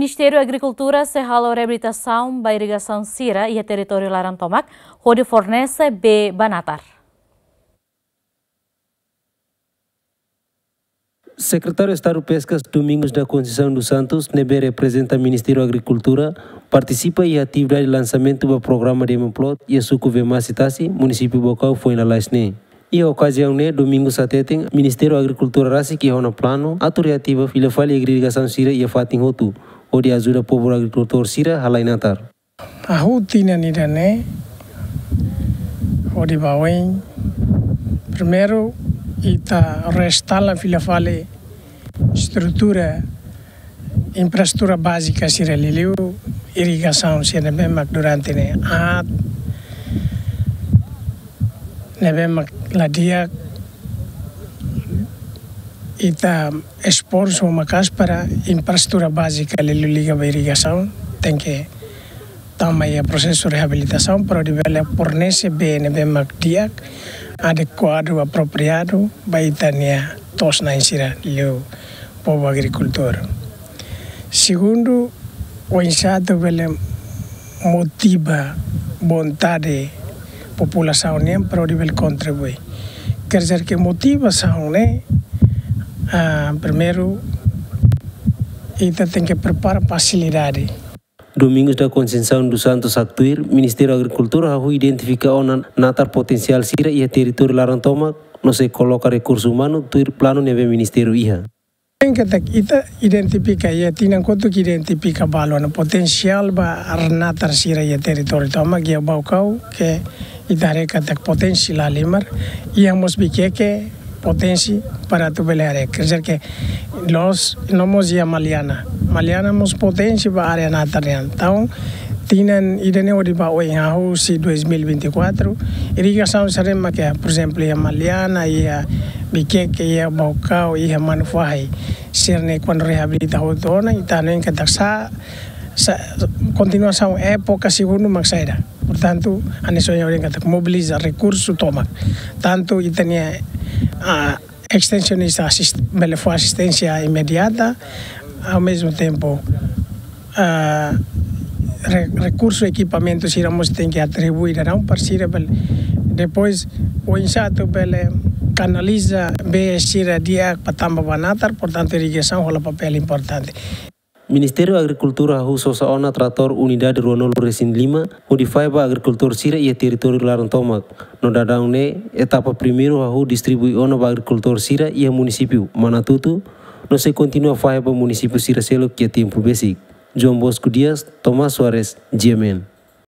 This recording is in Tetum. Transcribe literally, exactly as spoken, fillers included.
Ministériu Agrikultura sei halo reabilitasaun ba irrigasaun sira iha territóriu laran tomak, hodi fornese bee ba natar. Sekretáriu Estadu Peskas, Domingos da Conceição dos Santos, ne'ebé reprezenta Ministériu Agrikultura, partisipa iha atividade lansamentu ba programa Demo Plot iha suku Vemasi Tasi, munisípiu Baucau, foin lalais ne'e. Iha okaziaun ne'e, Domingos hateten, Ministériu Agrikultura rasik iha ona planu atu reativa fila fali irrigasaun sira iha fatin hotu, hodi ajuda povu agrikultór sira halai natar. Hahú tinan ida-ne'e hodi ba oin, primeiru, ita restaura fila fali estrutura, infraestrutura bázika sira liuliu irrigasaun sira ne'ebé mak durante ne'e aat, ne'ebé mak la di'ak, ita esforsu maka'as para infraestrutura bázika liuliu liga ba irrigasaun tenke tama iha prosesu reabilitasaun para hodi bele fornese bee ne'ebé mak di'ak, adekuadu, apropriadu ba ita-nia to'os-na'in sira liuliu povu agrikultór. Segundu, oinsá atu bele motiva vontade populasaun nian para hodi bele kontribui. Quer dizer que motivasaun ne'e, ah, primeiru, ita tenke prepara fasilidade. Domingos da Conceição dos Santos haktuir, Ministériu Agrikultura hahú identifika ona natar potensiál sira iha territóriu laran tomak, no sei koloka rekursu umanu tuir planu ne'ebé ministériu iha. Ne'e katak ita identifika, iha tinan kotuk identifika balu ona potensiál ba natar sira iha territóriu tomak iha Baucau, ke ita haree katak potensi la halimar, iha mós Viqueque potensi para atu bele haree. Quer dizer que la'ós, no mós iha Maliana. Maliana mós potensi ba área natar nian. Entaun, tinan ida-ne'e hodi ba oin, hahú husi dois mil e vinte e quatro, irrigasaun sira ne'ebé mak iha, por exemplo, iha Maliana, iha Viqueque, iha Baucau, iha Manufahi, sira-ne'e kuandu reabilita hotu ona, ita hanoin katak sa, sa, kontinuasaun époka segundu mak saida. Portantu, hanesan ohin ha'u dehan katak mobiliza rekursu tomak. Tantu ita-nia, ah, estensionista asist-, bele fó asisténsia imediata, ao mesmo tempo, ah, re-, rekursu, ekipamentu sira mós tenke atribui daudaun para sira bele. Depois, oinsá atu bele kanaliza bee sira di'ak para tama ba natar, portantu irrigasaun hola papél importante. Ministériu Agrikultura hahú sosa ona tratór unidade ruanulu resin lima, hodi fahe ba agrikultór sira iha territóriu laran tomak. No daudaun ne'e, etapa primeiru hahú distribui ona ba agrikultór sira iha munisípiu Manatuto, no sei kontinua fahe ba munisípiu sira seluk iha tempu besik. João Bosco Dias, Tomás Soares, G M N.